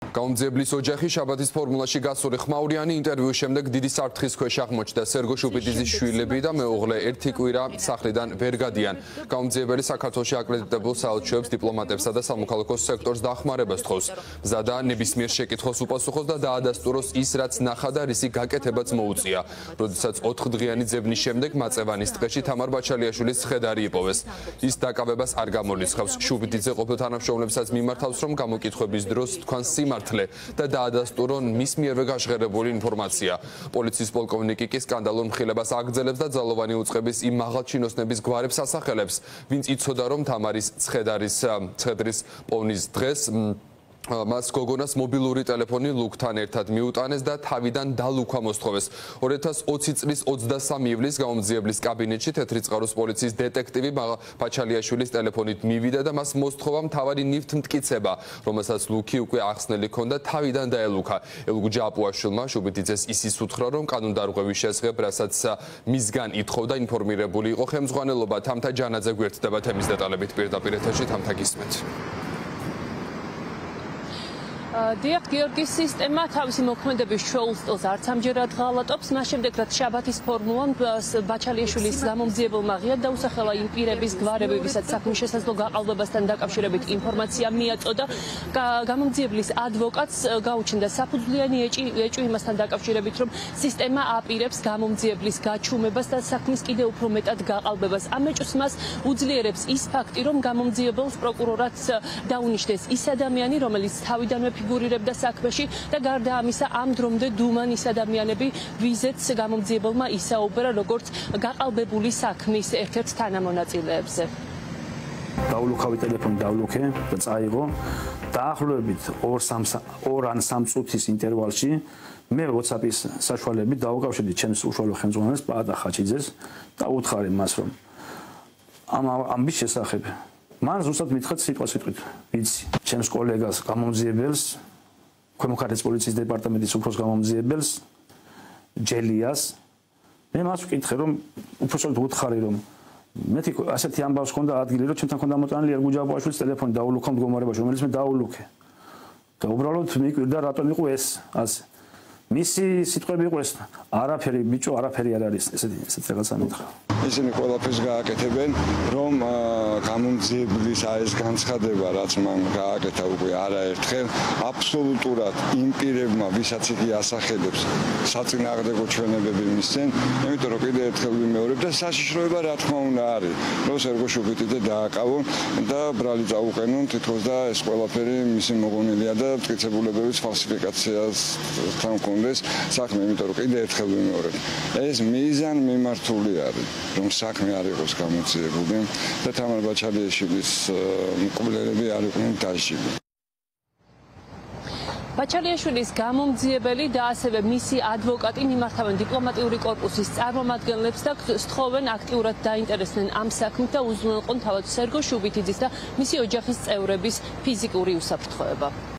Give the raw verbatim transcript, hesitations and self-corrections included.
გაუმძიებლის ოჯახი შაბათის ფორმულაში გასული ხმაურიანი ინტერვიუს შემდეგ დიდი საფრთხის ქვეშ აღმოჩნდა. სერგო შუბიტიძის შვილები და მეუღლე ერთი კვირა სახლიდან ვერ გადიან. გაუმძიებელი საქართველოში აკრედიტებულ საელჩოებს, დიპლომატებსა და სამოქალაქო სექტორს დახმარებას თხოვს. მზადა ნებისმიერ შეკითხვას უპასუხოს და დაადასტუროს ის, რაც ნახა და რისი გაკეთებაც მოუწია. როდესაც ოთხდღიანი ძებნის შემდეგ მაწევანის ტყეში თამარ ბაჩალიაშვილის ცხედარი იპოვეს. ის დაკავებას არ გამორიცხავს. შუბიტიძე ყოფილ თანამშრომლებსაც მიმართავს, რომ გამოკითხვების დროს თქვან სიმართლე და დაადასტურონ მის მიერვე გაშღერებული ინფორმაცია. პოლიციის პოლკოვნიკი კი სკანდალურ მხილებას აგრძელებს და ძალოვანი უწყების იმ მაღალჩინოსნების გვარებს ასახელებს, ვინც იცოდა, რომ თამარის ცხედარის ცხედრის პოვნის დღეს მას გოგონას მობილური ტელეფონი ლუკთან ერთად მიუტანეს და თავიდან დალუქვა მოსთხოვეს. ორი ათას ოცი წლის ოცდასამი ივლისს გაუმძიებლის კაბინეტში თეთრი წყაროს პოლიციის დეტექტივი ბაჩალიაშვილის ტელეფონით მივიდა და მას მოსთხოვა მთავარი ნივთმტკიცება, რომელსაც ლუქი უკვე ახსნელი ჰქონდა, თავიდან დაელუქა. ელგუ ჯაპუაშვილმა შუბიტიძეს ისიც უთხრა, რომ კანონდარღვევის შესახებ, რასაც მისგან ითხოვდა, ინფორმირებული იყო ხელმძღვანელობა. თამთა ჯანაძე გვერდდება თემის დეტალებით პირდაპირ ეთერში. თამთა გისმენთ. დიახ, გიორგის სისტემა თავისი მოქმედების ჩვეულ სტილს არც ამჯერად ღალატობს. მას შემდეგ, რაც შაბათის ფორმულამ ბაჩალიაშვილის გამომძიებელმა ღიად დაუსახელა იმ პირების გვარები, ვისაც საქმის შესაძლო გაყალბებასთან დაკავშირებით ინფორმაცია მიაწოდა. გამომძიებლის ადვოკატს გაუჩნდა საფუძვლიანი ეჭვი იმასთან დაკავშირებით, რომ სისტემა აპირებს გამომძიებლის გაჩუმებას და საქმის კიდევ უფრო მეტად გაყალბებას. ამ ეჭვს მას უძლიერებს ის ფაქტი, რომ გამომძიებელს პროკურორად დაუნიშნეს ის ადამიანი, რომელიც თავიდანვე ფიგურირებდა საქმეში და გარდა ამისა ამ დრომდე დუმან ის ადამიანები, ვიზეც გამომძიებელმა ისაუბრა როგორც გაყალბებული საქმის ერთ-ერთ თანამონაწილეებზე. დაულუქავი ტელეფონი დავლუქე და წაიღო. დაახლოებით ორ ან სამ წუთის ინტერვალში მე WhatsApp-ის საშუალებით დავუკავშირდი ჩემს უშუალო ხელმძღვანელს პაატა ხაჩიძეს და უთხრე მას, რომ ამ ამის შესახებ მან ზუსტად მითხრა სიტყვა სიტყვით, ვიცი, ჩემს კოლეგას გამომძიებელს, ქვემო ქართლის პოლიციის დეპარტამენტის უფროს გამომძიებელს, ჯელიას, მე მას ვკითხე, რომ უფროსად უთხარი, რომ მეთი ასეთი ამბავს ჰქონდა ადგილი, რომ ჩემთან ჰქონდა მოტანილი ერგუ ჯავაბაშვილის ტელეფონი დაულუქა მდგომარეობაში, რომელიც მე დაულუქე. და უბრალოდ მიკვირდა რატომ იყო ეს ასე. მისი სიტყვები იყო ეს, არაფერი ბიჭო, არაფერი არ არის, ესეთი ესეთი რაღაცა მითხრა. ისინი ყველაფერს გააკეთებენ, რომ გამომძიებლის ეს განცხადება, რაც მან გააკეთა უკვე არაერთხელ, აბსოლუტურად იმ პირებმა, ვისაც იგი ასახელებს, საწინააღმდეგო ჩვენებები მისცენ, იმიტომ რომ კიდევ ერთხელ ვიმეორებ და საშიშროება რა თქმა უნდა არის, რომ სერგო შუბიტიძე დააკავონ და ბრალი წაუყენონ თითქოს და ეს ყველაფერი მისი მოგონილია და მტკიცებულებების ფალსიფიკაციასთან კონდეს საქმე, იმიტომ რომ კიდევ ერთხელ ვიმეორებ, ეს მიზან მიმართული არის. რომ საქმე არ იყოს გამომძიებული და თამარ ბაჩალიაშვილის მკვლელები არ იყვნენ დაჟილი. ბაჩალიაშვილის გამომძიებელი და ასევე მისი ადვოკატი მიმართავენ დიპლომატიური კორპუსის წარმომადგენლებს და სთხოვენ აქტიურად დაინტერესდნენ ამ საქმით და უზრუნველყონ თავად სერგო შუბიტიძის და მისი ოჯახის წევრების ფიზიკური უსაფრთხოება.